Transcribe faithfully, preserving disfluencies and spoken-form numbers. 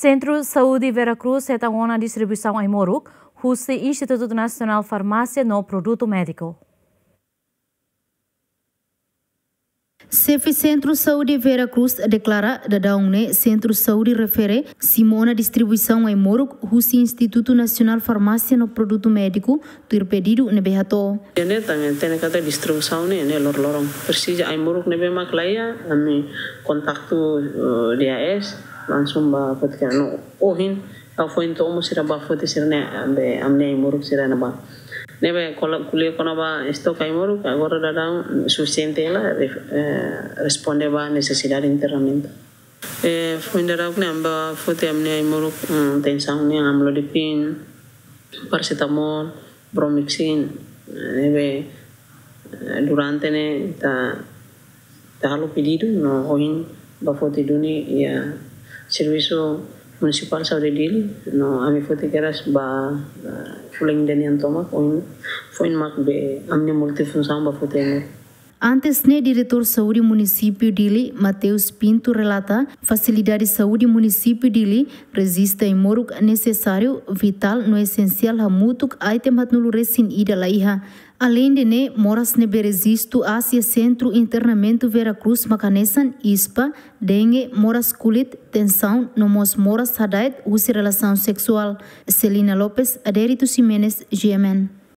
Sentru Saúde Vera Cruz hetan ona distribuisaun ai-moruk husi Institutu Nasionál Farmásia no Produtu Médiku. Xefe Sentru Saúde Vera Cruz deklara daudaun ne'e sentru saúde refere simu ona distribuisaun ai-moruk husi Institutu Nasionál Farmásia no Produtu Médiku tuir pedidu ne'ebé hato'o. Ne'e tan, ne'e katak distribuisaun ne'e, ne'e loroloron. Presiza ai-moruk ne'ebé mak laiha, ami kontaktu, eh, D A S, langsung bá foti ka no ohin, ha'u foin to'o mós sira bá foti sira-nia, be, ami-nia ai-moruk sira-ne'ebá. Ne'ebé ko'alia kona-ba estok ai-moruk, agora daudaun sufisiente hela, ref-, eh, responde ba nesesidade internamentu. Eh, foin daudauk ne'e ami bá foti ami-nia ai-moruk, mm, tensaun nian, amlodipina, parasetamol, bromoxin, eh, ne'ebé, eh, durante ne'e ita, ita halo pedidu, no ohin bá foti duni iha Servisu Munisipál Saúde Dili, no ami foti kedas ba, eh, fulan ida nian tomak, ohin foin mak be ami-nia multifunsaun bá foti ne'e. Antes ne'e, Diretór Saúde Munisípiu Dili, Mateus Pinto, relata fasilidade saúde Munisípiu Dili rejista ai-moruk nesesáriu, vitál no esensiál hamutuk item haatnulu resin ida laiha. Aleinde ne'e, moras ne'ebé rejistu asia Sentru Internamentu Vera Cruz mak hanesan ispa, dengue, moras kulit, tensaun, no mós moras hada'et husi relasaun seksuál. Celina Lopes, Adérito Ximenes, G M N.